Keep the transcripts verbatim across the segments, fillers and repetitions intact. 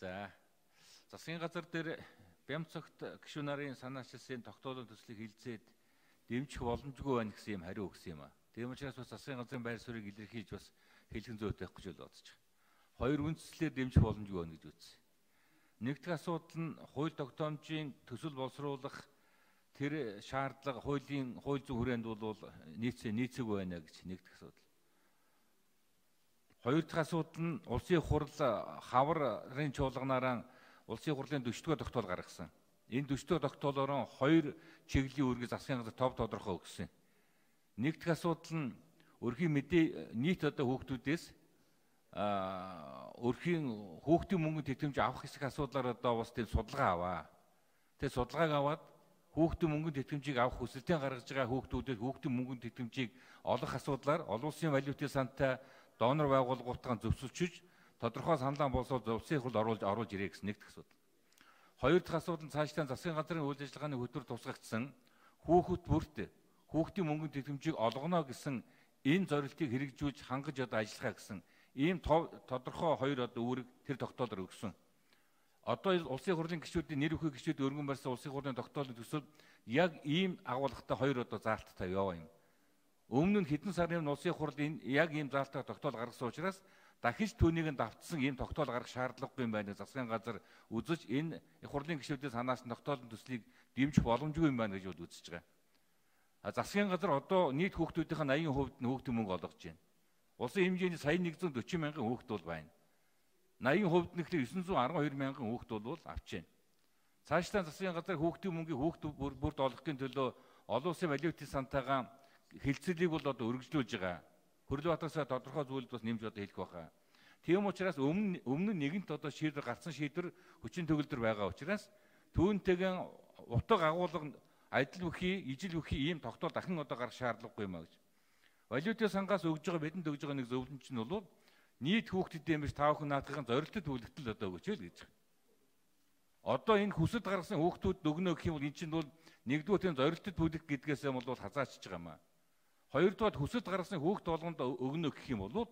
За засгийн газар дээр Бямцогт гишүүн нарын санаачилсан тогтоолын төслийг хилцээд дэмжих боломжгүй байна гэсэн юм хариу өгсөн юм а. Тийм учраас бас засгийн газрын байр суурийг илэрхийлж бас хэлхэн зүйтэй байх гэж бодож байгаа. Хоёр үндслээр дэмжих боломжгүй байна гэж үзсэн. Нэгдүгээр асуудал нь хууль тогтоомжийн төсөл боловсруулах тэр шаардлага хуулийн хууль зүйн хүрээнд бол нийцээ нийцээгүй байна гэж нэгдүгээр асуудал. Хоёр дахь асуудал нь улсын хурал хаврын чуулганаараа улсын хурлын дөчтгөө тогтоол гаргасан. Энэ дөчтгөө тогтоолоор хоёр чиглэлийн үүргийг засгийн газар тов тодорхой өгсөн. Нэг дахь асуудал нь өрхийн мэдээ нийт одоо хүүхдүүдээс а өрхийн хүүхдийн мөнгөнд тэтгэмж авах хэсэг асуудлаар одоо бас тийм судалгаа аваа. Тэгээ судалгааг аваад хүүхдийн мөнгөнд тэтгэмжийг авах хүсэлтэн гаргаж байгаа хүүхдүүдэд хүүхдийн мөнгөнд тэтгэмжийг олох асуудлаар олон улсын валютын сантай донор байгууллагуудтайгаа зөвшөөрчиж тодорхой саналаа болсоод улсын хурлд оруулж оруулж ирээ гэсэн нэг дахь асуудал. Хоёр дахь асуудал нь цаашдаа засгийн газрын үйл ажиллагааны хөтөлбөр тусгагдсан хүүхэд бүрт хүүхдийн мөнгөнд тэтгэмжийг олгоно гэсэн энэ зорилтыг хэрэгжүүлж хангаж одоо ажиллахаа гэсэн ийм тодорхой хоёр одоо үүрэг тэр тогтоолоор өгсөн. Одоо улсын хурлын гишүүдийн нэр бүхий гишүүд өргөн барьсан улсын хурлын тогтоолын төсөл яг ийм агуулгатай хоёр одоо заалттай яваа юм. Өмнө нь хэдэн сарын улсын хурл энэ яг ийм заалттай тогтоол гаргасан учраас дахиж түүнийг нь давтсан ийм тогтоол гаргах шаардлагагүй юм байна. Засгийн газар үзэж энэ хурлын гишүүдийн санаас тогтоолын төслийг дэмжих боломжгүй юм байна гэж үзэж байгаа. А засгийн газар одоо нийт хүүхдүүдийн eighty хувьд нь хүүхдийн мөнгө олгож байна. Улсын хэмжээний сая нэгдүгээр зуун дөрвөн мянган хүүхд бол байна. eighty хувьд нь ихлээр девятьсот двадцать two мянган хүүхд бол авч байна. Цаашдаа засгийн газар хүүхдийн мөнгийг хүүхд бүрд олгохын төлөө олон улсын валютын сантайгаа хилцэлийг бол одоо өргөжлүүлж байгаа. Хөрлөбатарсаа тодорхой зүйлд бас нэмж одоо хэлэх байхаа. Тийм учраас өмнө өмнө нэгэнт одоо шийдвэр гарсан шийдвэр хүчин төгөлдөр байгаа учраас түүнтэйгэн утга агуулга адил бүхий, ижил бүхий ийм тогтоол дахин одоо гарах шаардлагагүй юм а гэж. Валютын сангаас өгж байгаа бидэнд өгж байгаа нэг зөвлөмж нь бол нийт хүүхдэд юм биш тавхан наадахын зорилттой төлөвлөлт одоо өгөөч л гэж. Одоо энэ хүсэлт гаргасан хүүхдүүд өгнө гэх юм бол эн чинь бол нэгдүгээр тийм зорилттой төлөвлөлт гэдгээс юм бол хазаачж байгаа юм а. Хоёрдугаар хүсэлт гаргасан хүүхд болгонд өгнө гэх юм бол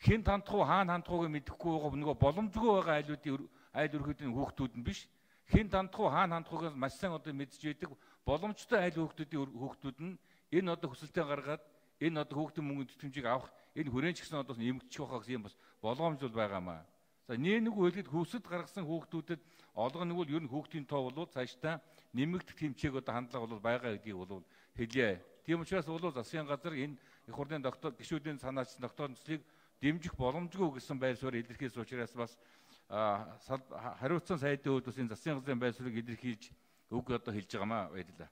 хэн тандах уу хаана хандах ууг мэдэхгүй байгаа нөгөө боломжгүй байгаа айлуудын айл өрхөдийн хүүхдүүд нь биш. Хэн тандах уу хаана хандах ууг маш сайн одоо мэдж байдаг боломжтой айл хүүхдүүдийн хүүхдүүд нь энэ одоо хүсэлтээ гаргаад энэ одоо хүүхдийн мөнгөнд тэтгэмжийг авах энэ хүрээнд ч гэсэн одоо нэмэгдчих واخа гэсэн юм бас болгоомж бол байгаа юм аа. За нэг үгэлгэд хүсэлт гаргасан хүүхдүүдэд олгоно бол ер нь хүүхдийн тоо бол цаашдаа нэмэгдэх тэмцээг одоо хандлага бол байгаа гэдгийг бол хэлье. Тийм учраас бол засгийн газар энэ их хурлын тогтоол гишүүдийн санаачсан тогтоолын төслийг дэмжих боломжгүй гэсэн байр суурь илэрхийлсэн учраас бас хариуцсан сайдын хувьд бас энэ засгийн газрын байр суурийг илэрхийлж үг одоо хэлж байгаамаа баярлалаа.